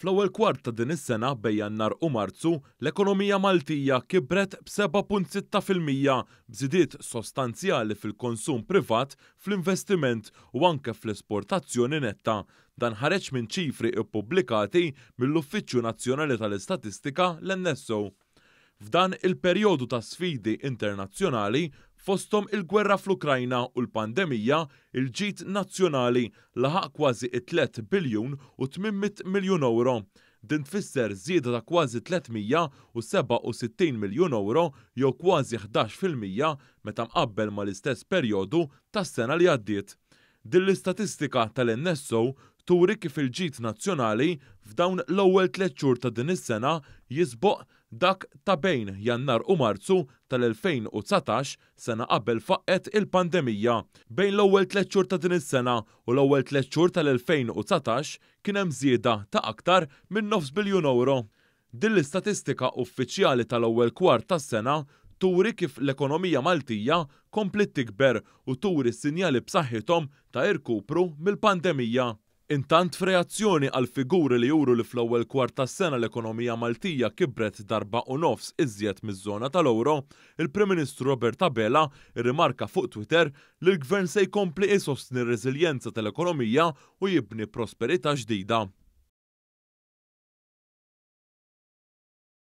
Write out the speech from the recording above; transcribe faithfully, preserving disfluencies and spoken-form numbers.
Fl-ewwel kwart ta' din is-sena bejn Jannar u Marzu, l-ekonomija Maltija kibret b'seba' punt sitta fil-mija b'żidiet sostanzjali fil-konsum privat, fl-investiment u anke fl-esportazzjoni netta. Dan ħareġ minn ċifri ppubblikati mill-Uffiċċju Nazzjonali tal-Istatistika, l-N S O. F'dan il-perjodu ta' sfidi internazzjonali, fosthom il-gwerra fl-Ukrajna u l-pandemija, il-ġid nazzjonali laħaq kważi tliet biljun u tmien mitt miljun euro. Din tfisser żieda ta' kważi tliet mija u seba' u sittin miljun euro jew kważi ħdax fil-mija meta mqabbel mal-istess perjodu tas-sena li għaddiet. Din l-istatistika tal-N S O turi kif il-ġid nazzjonali f'dawn l-ewwel tliet xhur ta' din is-sena jisboq dak ta' bejn Jannar u Marzu tal-elfejn u dsatax, sena qabel faqqet il-pandemija. Bejn l-ewwel tliet xhur ta' din is-sena u l-ewwel tliet xhur tal-elfejn u dsatax kien hemm żieda ta' aktar minn nofs biljun euro. Din l-istatistika uffiċjali tal-ewwel kwart tas-sena turi kif l-ekonomija Maltija kompliet tikber u turi sinjali b'saħħithom ta' irkupru mill-pandemija. Intant f'reazzjoni għal figuri li juru li fl-ewwel kwart tas-sena l-ekonomija Maltija kibret darba u nofs iżjed miż-żona tal-euro, il-Prim Ministru Robert Abela rrimarka fuq Twitter li l-Gvern se jkompli isostni r-reżiljenza tal-ekonomija u jibni prosperità ġdida.